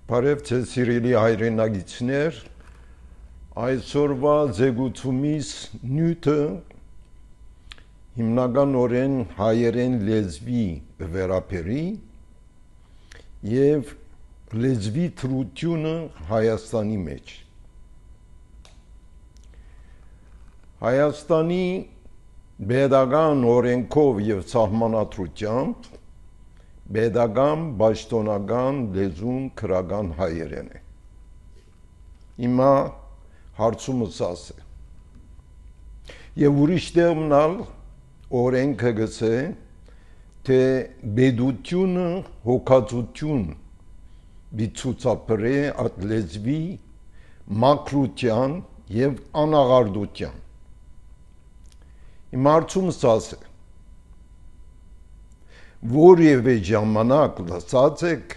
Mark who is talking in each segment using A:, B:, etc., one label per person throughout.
A: Բարև ձեզ սիրելի հայրենագիտներ, այսօրվա զեկուցումից նյութը հիմնականորեն հայերեն լեզվի վերաբերի եւ լեզվի թրությունը Հայաստանի մեջ։ Հայաստանի պետական օրենքով եւ սահմանադրությամբ Պետական պաշտոնական լեզուն քրական հայերեն է։ Հիմա հարցումս ասե։ Եվ ուրիշ տեղմնալ օրենքը գցե, թե պետությունը հոգացություն բիցուցապրե այդ լեզվի մակրության եւ անաղարդության։ Հիմա հարցումս ասե։ Որևէ ժամանակ լսած եք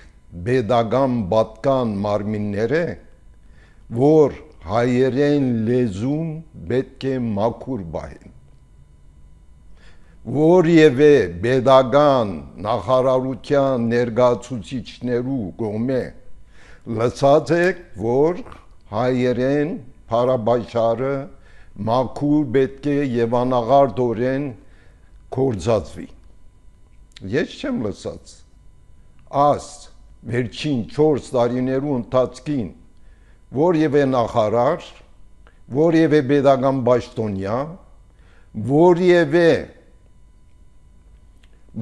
A: պետական պատկան մարմինները, որ հայերեն լեզուն պետք է մաքուր բահեն։ Որևէ պետական նախարարության ներկայացուցիչներու կողմէ լսած եք, որ հայերեն փարաբաշխարը մաքուր պետք է եւ անաղարդորեն կործածվի։ Ես չեմ լսած, վերջին 4 տարիներու ընթացքին, որևէ նախարար, որևէ պետական պաշտոնյա, որևէ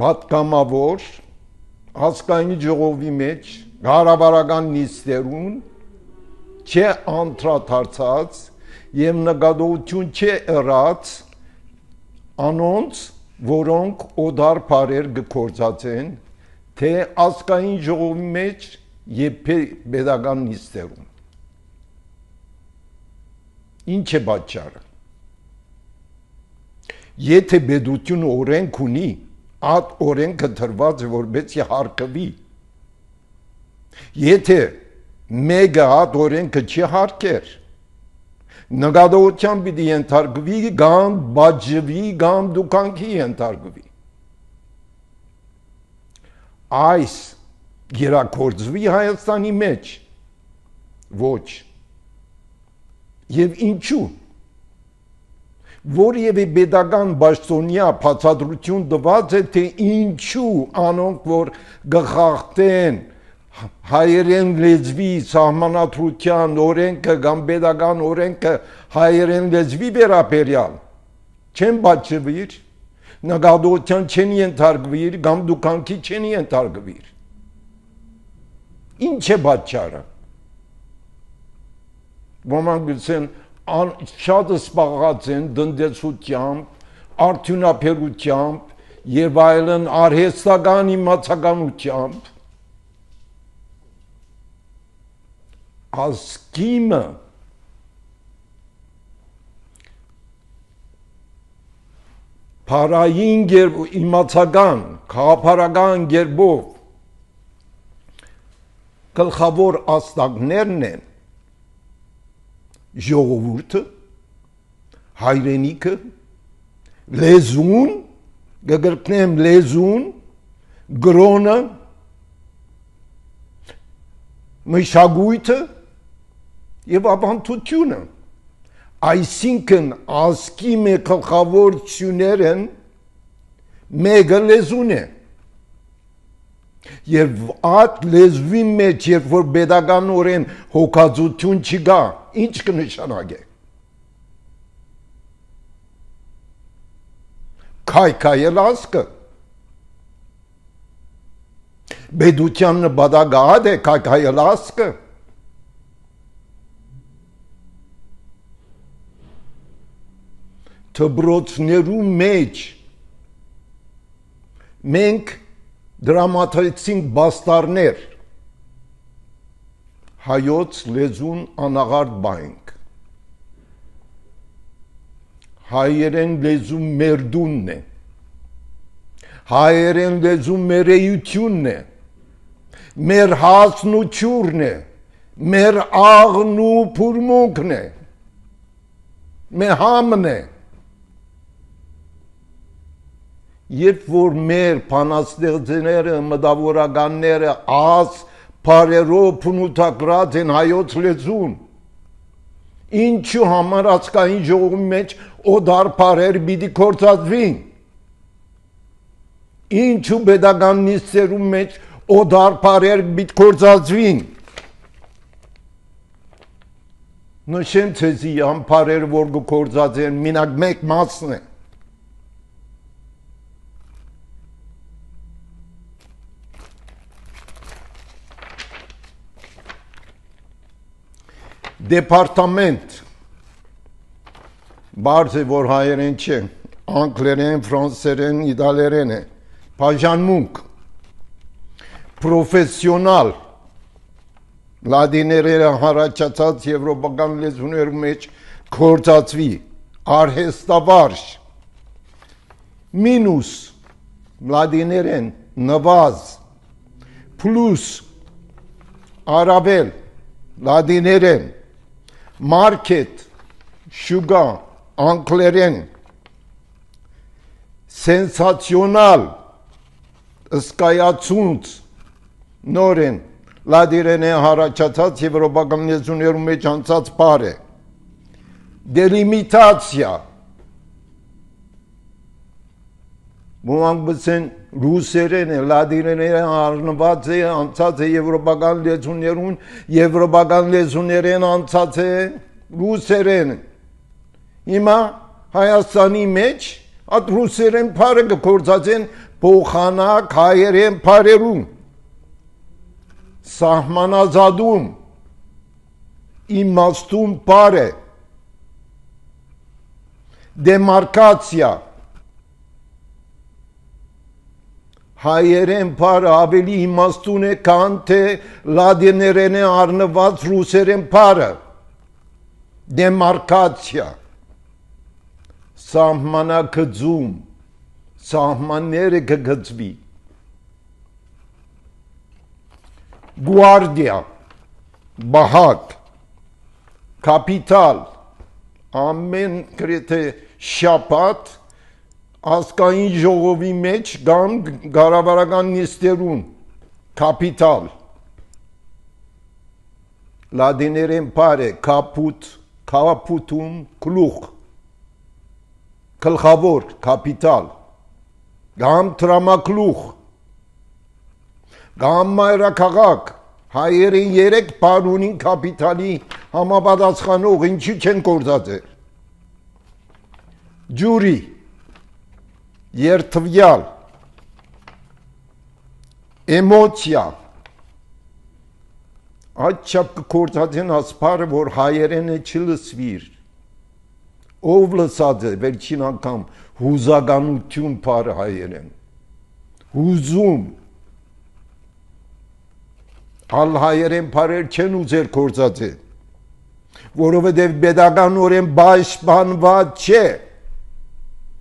A: պատգամավոր, ազգային ժողովի մեջ, կառավարական նիստերուն չէ անդրադարձած եւ նկատողություն չէ ըրած անոնց որոնք օդար բարեր գործածեն, թե ազգային ժողովի մեջ եւ պետական նիստերում։ Ինչ է պատճառը։ Եթե պետությունը օրենք ունի, այդ օրենքը դրված է որպեսզի հարգվի։ Եթե մեկը այդ օրենքը չի հարգեր, նկատողության պիտի ենթարկվի, կամ բաժվի, կամ դուքանքի ենթարկվի։ Այս գերակորձվի Հայաստանի մեջ, ոչ։ Եվ ինչու։ Որևէ պետական պաշտոնյա բացատրություն տված է, թե ինչու անոնք, որ գխախտեն հայերեն լեզվի սահմանադրության օրենքը կամ պետական օրենքը հայերեն լեզվի վերաբերյալ չեն բացվիր, նկատողության չեն ենթարկվիր, կամ դուքանքի չեն ենթարկվիր։ Ինչ է պատճառը։ Ոմանք գուցեն շատ սպառած են տնտեսությամբ, արդյունաբերությամբ եւ այլն արհեստական իմացականությամբ։ Ազգիմը փարային իմացական, քաղաքական գերբով գլխավոր աստղներն են ժողովուրդը, հայրենիքը, լեզուն, գգրտնեմ լեզուն, գրոնը, մշակույթը եւ ավանդությունը, այսինքն ազգի մեկ գլխավոր ծյուներն մեկը լեզուն է։ Եվ այդ լեզվի մեջ, երբ որ պետականորեն հոգացություն չկա, ինչ կնշանակե։ Քայքայել ազգը։ Պետության նպատակը է քայքայել ազգը։ Դպրոցներու մեջ մենք դրամատեցինք բաստարներ, հայոց լեզուն անաղարդ բանք, հայերեն լեզու մեր դունն է, հայերեն լեզու մեր էությունն է, մեր հասն ու չուրն է, մեր աղն ու փուրմունքն է, մեր համն է։ Երբ որ մեր բանաստեղծները, մտավորականները Պարերով պնութակրած են հայոց լեզուն։ Ինչու համար ազգային ժողովի մեջ օդար պարեր պիտի կործածվին։ Ինչու պետական նիստերում մեջ օդար պարեր պիտի կործածվին։ Նշեմ ցեզի ամ պարերը որ կործածեն մինակ մեկ մասն է։ Դեպարտամենտ բարձ է որ հայերեն չէ, անգլերեն, ֆրանսերեն, իտալերեն է, բաժանմունք, պրոֆեսիոնալ, լադիներերը հարաճացած եվրոպական լեզուներու մեջ կործածվի, արհեստավարժ, մինուս, լադիներեն, նվազ, պլուս, արավել, լադիներեն, մարքետ, շուգա, անգլերեն, սենսացիոնալ, ըսկայացունց, նորեն, լադիրեն է հարաճացած եվրոպական լեզուներու մեջ անցած պար է, դելիմիտացիա, Ոմանք բսեն ռուսերեն է, լադիրեն է, արնված է, անցած է եվրոպական լեզուներուն, եվրոպական լեզուներեն անցած է ռուսերեն։ Հիմա Հայաստանի մեջ այդ ռուսերեն պարը կործած են փոխանակ հայերեն պարերում, սահմանազատում, իմաստում պար է, դեմարկացիա, հայերեն պարը ավելի իմաստուն է, քան թե լադիներեն է առնված ռուսերեն պարը, դեմարկացիա, սահմանակցում, սահմանները կգծվի, գուարդիա, բահակ, կապիտալ, ամեն գրեթե շաբաթ ազգային ժողովի մեջ կամ կառավարական նիստերուն կապիտալ լադիներեն պար է կապուտ կապուտում գլուխ գլխավոր կապիտալ կամ տրամագլուխ կամ մայրաքաղաք հայերեն 3 պար ունին կապիտալի համապատասխանող ինչու չեն կործածել ջուրի երթվյալ, էմոցիա, այդ չապ կործած են ասպարը, որ հայերեն է չլսվիր, ով լսած է վերջին անգամ հուզականություն պարը հայերեն, հուզում, ալ հայերեն պարեր չեն ուզեր կործած է, որովհետև պետական օրեն պաշտպանված չէ,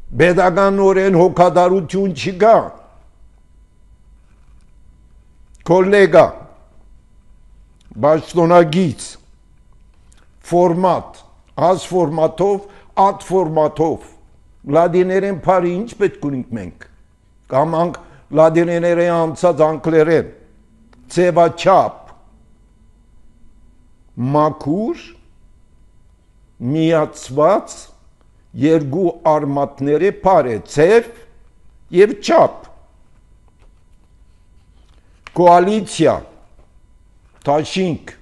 A: Պետական օրեն հոգադարություն չկա, կոլեգա, բաշտոնագից, ֆորմատ, ազ ֆորմատով, ատ ֆորմատով, լադիներեն պարի ինչ պետք ունենք մենք, կամ լադիներեն անցած անգլերեն, ծևաչապ, մաքուր, միացված, երկու արմատները պար է, ծև և չապ, կոալիցիա, թաշինք,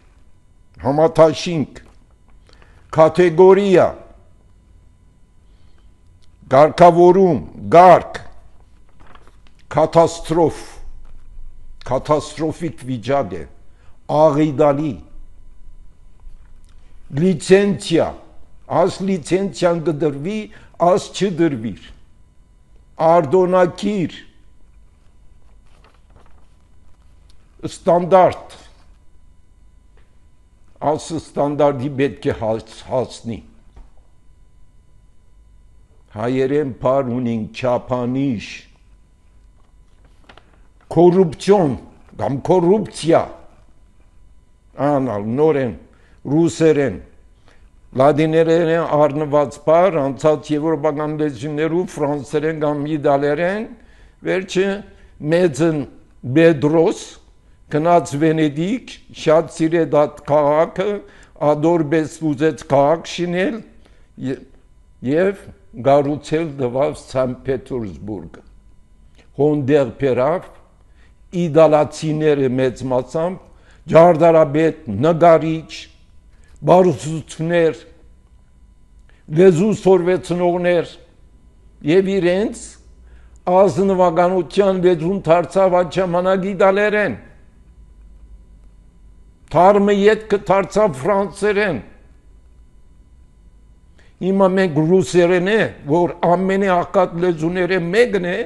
A: համաթաշինք, կատեգորիա, գարկավորում, գարկ, կատաստրոֆ, կատաստրոֆիկ վիճակ է, աղիդալի, լիցենցիա, Աս լիցենցիան կդրվի, աս չդրվիր, արդոնակիր, ստանդարտ, աս ստանդարդի պետք է հասնի, հայերեն պար ունին չապանիշ, կորուպցիոն, կամ կորուպցիա, անալ, նորեն, ռուսերեն, լադիներեն առնված պար, անցած եվրոպական լեզուներու, ֆրանսերեն կամ իտալերեն, վերջը մեծն Բեդրոս, գնաց Վենեդիկ, շատ սիրեց այդ քաղաքը, ադորբես ուզեց քաղաք շինել եւ գառուցել դվավ Սանտ Պետերսբուրգը։ Հոնդեր պերավ, իդալացիները մեծ մասամբ, ջարդարաբեդ, նգարիչ, բարուսուցներ, լեզու սորվեցնողներ եւ իրենց ազնվականության լեզուն դարձավ այդ ժամանակ իտալերեն, թարմը ետքը դարձավ ֆրանսերեն, հիմա մենք ռուսերեն է, որ ամենի աղքատ լեզուները մեկն է,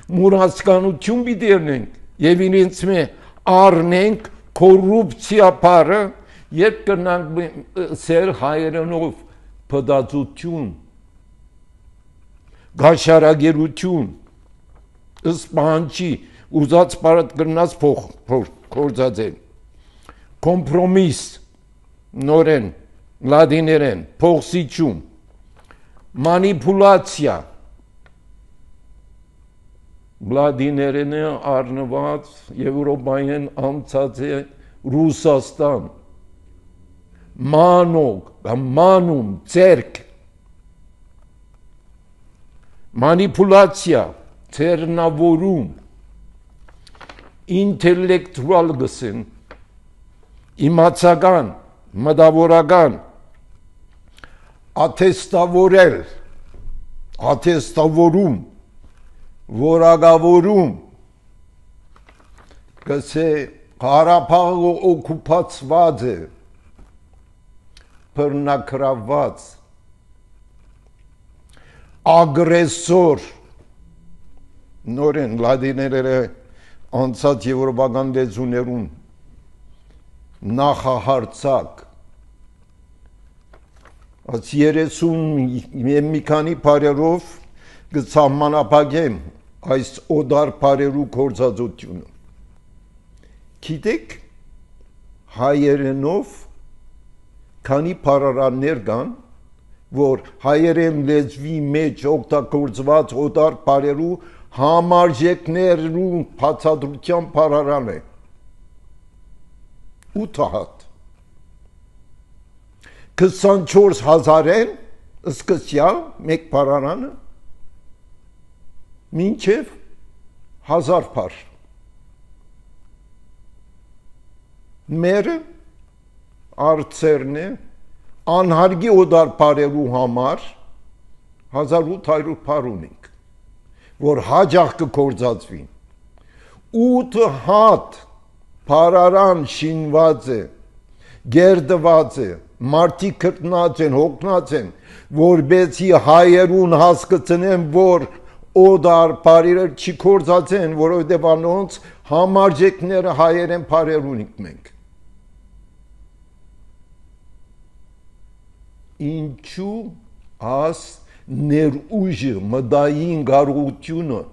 A: մուրացկանություն պիտի ելնենք եւ իրենց մե առնենք կոռուպցիա բարը երբ կրնանք սեր հայերենով փդացություն գաշարագերություն սպանչի ուզած բարդ կրնաց փորձածել կոմպրոմիս նորեն լադիներեն փոխսիչում մանիպուլացիա Վլադիներենը առնված Եվրոպայեն անցած է Ռուսաստան, մանոգ, մանում, ծերք, մանիպուլացիա, ծերնավորում, ինտելեկտուալ գսեն, իմացական, մտավորական, աթեստավորել, աթեստավորում, որակավորում գսե Ղարաբաղը օկուպացված է բռնակրաված ագրեսոր նորեն լադիներերը անցած եվրոպական լեզուներուն նախահարցակ այս 30 մի քանի բարերով գծամանապագեմ այս օդար բարերու կործածությունը գիտեք հայերենով քանի բարարաններ կան որ հայերեն լեզվի մեջ օգտագործված օդար բարերու համարժեքներու բացատրության բարարան է 8 հատ 24000-ն սկսյալ մեկ բարարանը մինչև 1000 բար մերը արծերն է անհարգի օդար բարերու համար 1800 բար ունենք որ հաջող կկործածվին 8 հատ բարարան շինված է գերդված է մարդիկ կրտնած են հոգնած են որբեցի հայերուն հասկացնեն որ օդար բարերը չի կործածեն որովհետև անոնց համարժեքները հայերեն բարեր ունենք մենք ինչու աս ներուժը մդային գարողությունը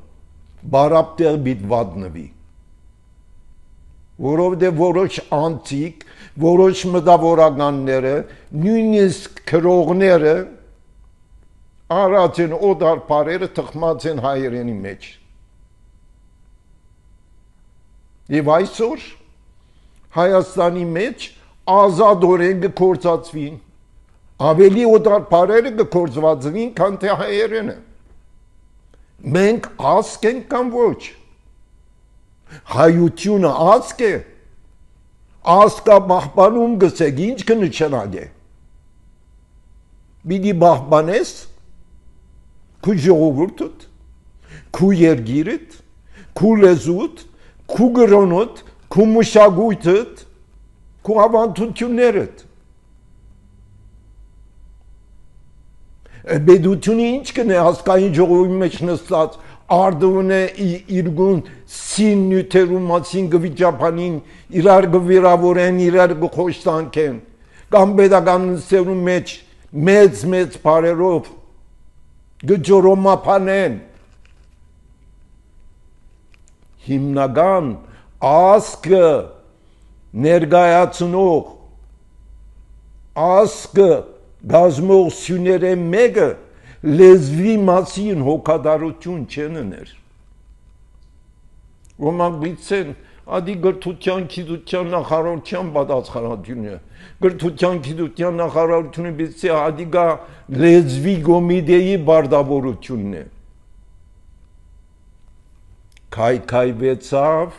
A: բարապտեղ բիտ վատնվի որովհետև որոշ անցիկ որոշ մտավորականները նույնիսկ քրողները արած են օդար բարերը թխմած են հայերենի մեջ եւ այսօր Հայաստանի մեջ ազատորեն կկործածվին ավելի օդար բարերը կկործվածվին քան թե հայերենը մենք ազգ ենք կամ ոչ հայությունը ազգ է ազգա բախբանում գսեք ինչ կնշանակ է բիդի բախբանես քու ժողովուրդդ, քու երգիրդ, քու լեզուդ, քու գրոնդ, քու մշակույթդ, քու ավանդություններդ։ Բեդությունը ինչ կնե հասկային ժողովի մեջ նստած արդուն է իրգուն սին նյութերու մասին գվիճապանին իրար գվիրավորեն, իրար գխոշտանքեն, կամ բետական նստերու մեջ մեծ բարերով գջորոմապանեն հիմնական ազգը ներգայացնող ազգը գազմող սյուները մեկը լեզվի մասին հոգադարություն չեն ուներ ոմանք գիտեն Ադի գրթության գիտության նախարարության պատասխանատվությունը գրթության գիտության նախարարությունը բիցի ադիգա լեզվի կոմիտեի բարդավորությունն է քայքայվեցավ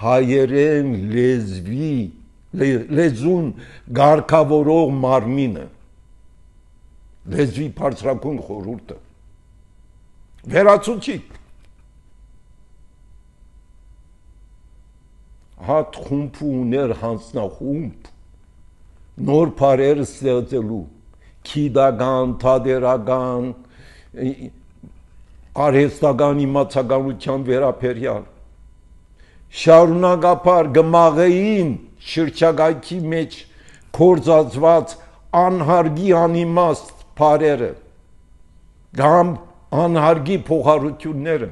A: հայերեն լեզուն գարկավորող մարմինը լեզվի բարձրակուն խորհուրդը վերացուցիկ հատ խումբ ուներ հանձնախումբ նոր բարեր ստեղծելու քիդական, թադերական, արհեստական իմացականության վերաբերյալ շարունակապար գմաղեին շրջակայքի մեջ կործածված անհարգի անիմաստ բարերը կամ անհարգի փոխառությունները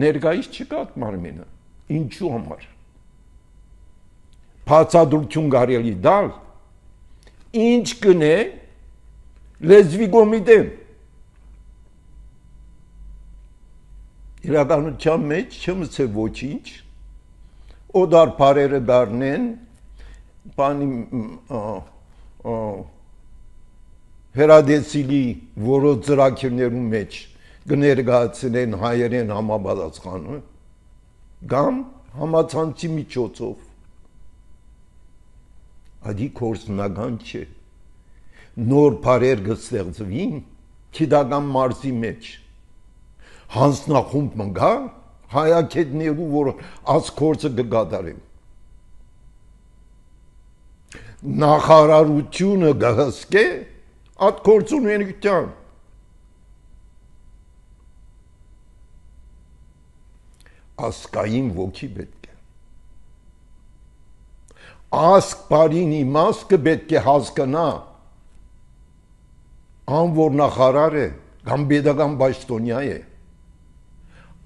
A: ներկայիս չկա մարմինը ինչու համար բացատրություն կարելի տալ ինչ կնե լեզվի կոմիտեն իրականության մեջ չմսե ոչինչ օդար բարերը դառնեն բանի հերադեսիլի որոշ ծրագրերում մեջ կներկայացնեն հայերեն համապատասխանը կամ համացանցի միջոցով ադի կորսնական չէ նոր բարեր կստեղծվին քիդական մարզի մեջ հանձնախումբ մնգա հայակետներու որ ասկորցը կգադարեն նախարարությունը գհսկե այդ կորցուն ենգիտյան ասկային ոգի պետք է ասկ բարին իմաստը պետք է հասկանա ան որ նախարար է կամ պետական պաշտոնյա է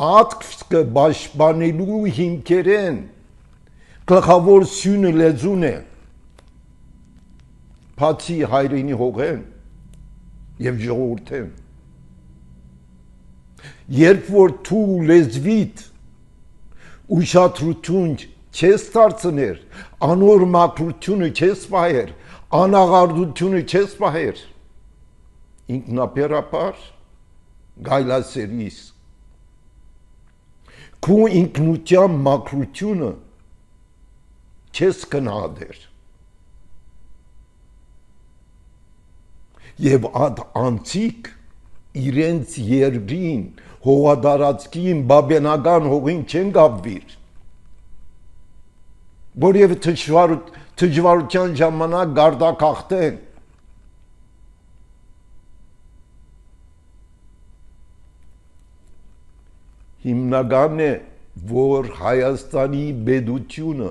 A: ատկը պաշտպանելու հիմքերեն գլխավոր սյունը լեզուն է բացի հայրենի հողեն եւ ժողովուրդեն երբ որ դու լեզվիդ ուշադրություն չես դարձներ անոր մաքրությունը չես պահեր անաղարդությունը չես պահեր ինքնաբերաբար գայլասերիս քու ինքնության մաքրությունը չես կնահատեր եւ այդ անցիկ իրենց երկրին հողադարածքին բաբենական հողին չեն գաբվիր որև թջվարության ժամանակ գարդակախտեն հիմնական է որ Հայաստանի պետությունը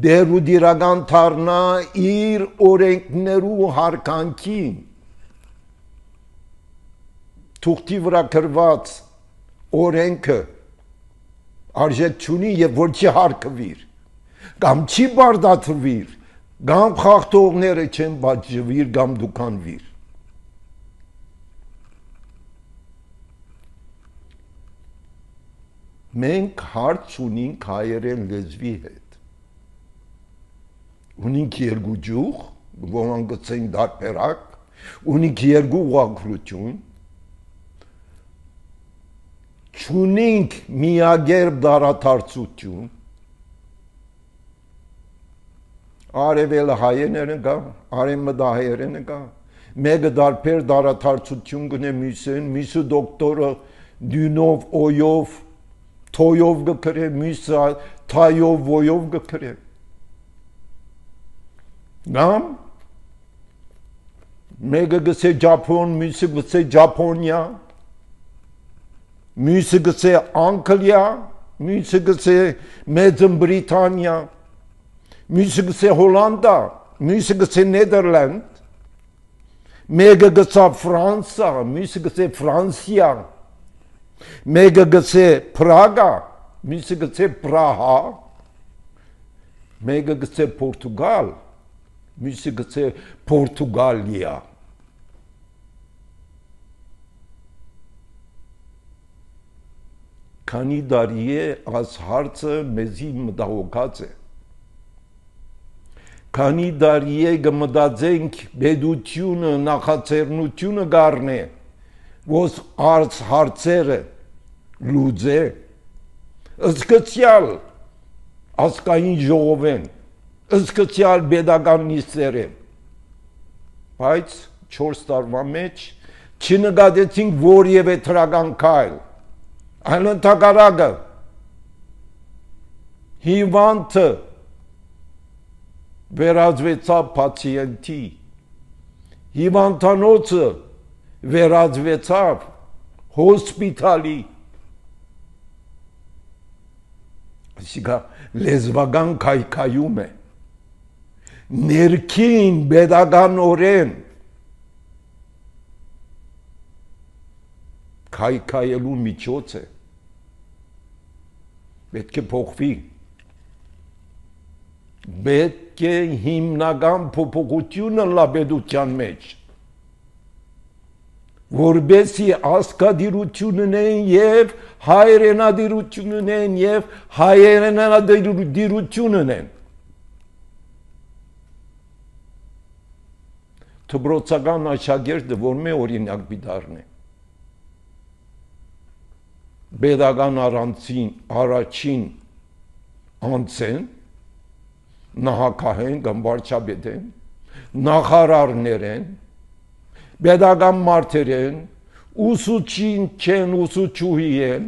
A: դեր ու դիրական թարնա իր օրենքներու հարկանքին թուղթի վրա գրված օրենքը արժեք չունի եւ որ չի հարկվիր կամ չի բարդացվիր կամ խախտողները չեն բաժվիր կամ դուքանվիր մենք հարց ունենք հայերեն լեզվի հետ ունենք երկու ջուղ ոմանք գցեն դարբերակ ունենք երկու ուղղագրություն չունենք միագերբ դարադարձություն արևելը հայերենը կա արևմտը հայերենը կա մեկը դարբեր դարադարձություն կնե մյուսը դոկտորը դյունով օյով թոյով գկրե մյուսը թայով ոյով գկրե գամ մեկը գսե Ճապոն մյուսը գսե Ճապոնիա մյուսը գսե Անգլիա, մյուսը գսե Մեծն Բրիտանիա, մյուսը գսե Հոլանդա, մյուսը գսե Նեդերլանդ, մեկը գսա Ֆրանսա, մյուսը գսե Ֆրանսիա, մեկը գսե Պրագա, մյուսը գսե Պրահա, մեկը գսե Պորտուգալ, մյուսը գսե Պորտուգալիա։ քանի դարի է այս հարցը մեզի մտահոգած է։ Քանի դարի է գմտածենք բեդությունը, նախաձեռնությունը գառնե, ոս արց հարցերը լուծե, ըսկացյալ ասկային ժողովեն, ըսկացյալ բեդական նիստերեն, բայց 4 տարվա մեջ չնկատեցինք որևէ թրական քայլ, այլ ընդհակառակը հիվանդը վերածվեցավ պացիենտի, հիվանդանոցը վերածվեցավ հոսպիտալի, այսինքն լեզվական քայքայում է, ներքին պետականորեն քայքայելու միջոց է, պետք է փոխվի, պետք է հիմնական փոփոխությունը լաբեդության մեջ, որբեսի ասկադիրություն ունեն և հայրենադիրություն ունեն և հայրենադիրություն ունեն, թբրոցական աշակերտը որ մե օրինակ բիդարն է, պետական առաջին անձեն, նահակահեն կամ վարչապետեն, նախարարներ են, պետական մարդեր են, ուսուցիչ չեն, ուսուցչուհի են,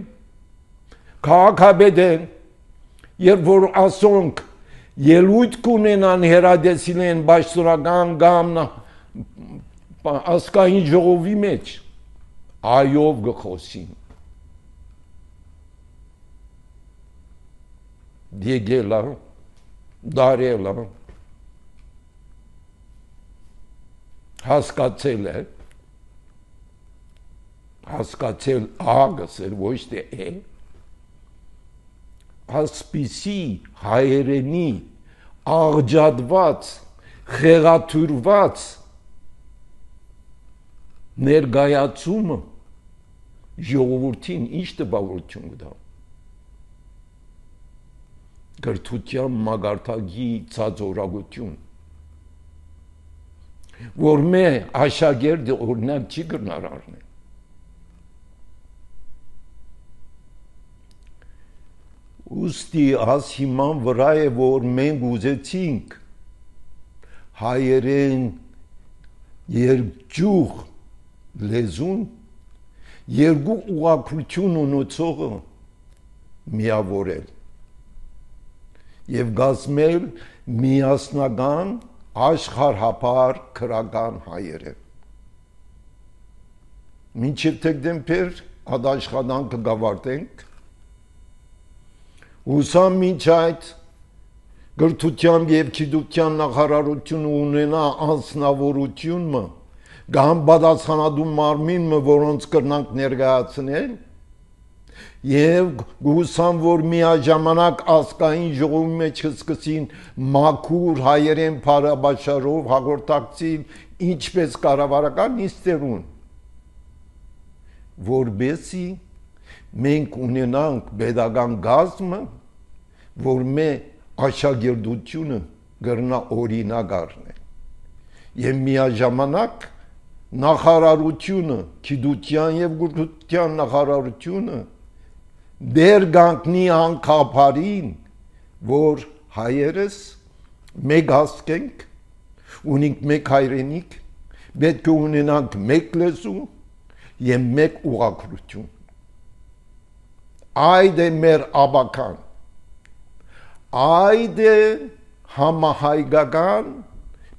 A: քաղաքապետ են, երբ որ ասոնք ելույթ կունենան հերադեսիլեն պաշտոնական կամ ազգային ժողովի մեջ, այով գխոսին, դիեգելա, դարելա, հասկացել է, հասկացել ագսել ոչ թե է, ասպիսի հայերենի աղջատված, խեղաթյուրված ներգայացումը ժողովրդին ինչ տպավորություն կտա, գրթության մագարտակի ցածորագություն, որ մե աշակերտը օրինակ չի կրնար առնել, ուստի աս հիման վրա է, որ մենք ուզեցինք հայերեն երկճյուղ լեզուն երկու ուղղակրություն ունեցողը միավորել և գազմել միասնական աշխարհապար քրական հայերեն։ Մինչև դեկտեմբեր այդ աշխատանքը կավարտենք, հուսամ մինչ այդ գրթության և գիտության նախարարությունը ունենա անձնավորությունը կամ պատասխանատու մարմինը, որոնց կրնանք ներկայացնել, և հուսամ, որ միաժամանակ ազգային ժողովի մեջ սկսին մաքուր հայերեն փառաբաշարով հաղորդակցին ինչպես կառավարական նիստերուն, որբեսի մենք ունենանք պետական գազմը, որ մե աշակերտությունը կրնա օրինակ առնել, և միաժամանակ նախարարությունը, գիտության և գրթության նախարարությունը դեր գանքնի անկապարին, որ հայերս մեկ հասկենք, ունենք մեկ հայրենիք, պետք է ունենանք մեկ լեզու և մեկ ուղղակրություն։ Այդ է մեր աբական, այդ է համահայկական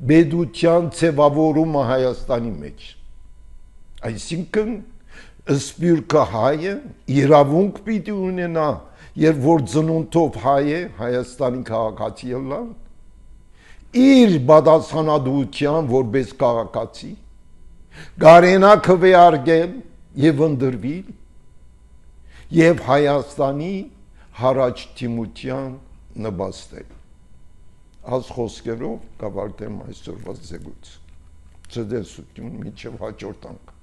A: պետության ձևավորումը Հայաստանի մեջ, այսինքն սպյուրքը հայը իրավունք պիտի ունենա, երբ որ ծնունդով հայ է Հայաստանի քաղաքացի ելա, իր պատասխանատվության որպես քաղաքացի, կարենա քվեարկել և ընդրվել և Հայաստանի հարաճտիմության նպաստել։ Այս խոսքերով կավարտեմ այսօրվա զեկույցը։ Ցտեսություն մինչև հաջորդ անգամ։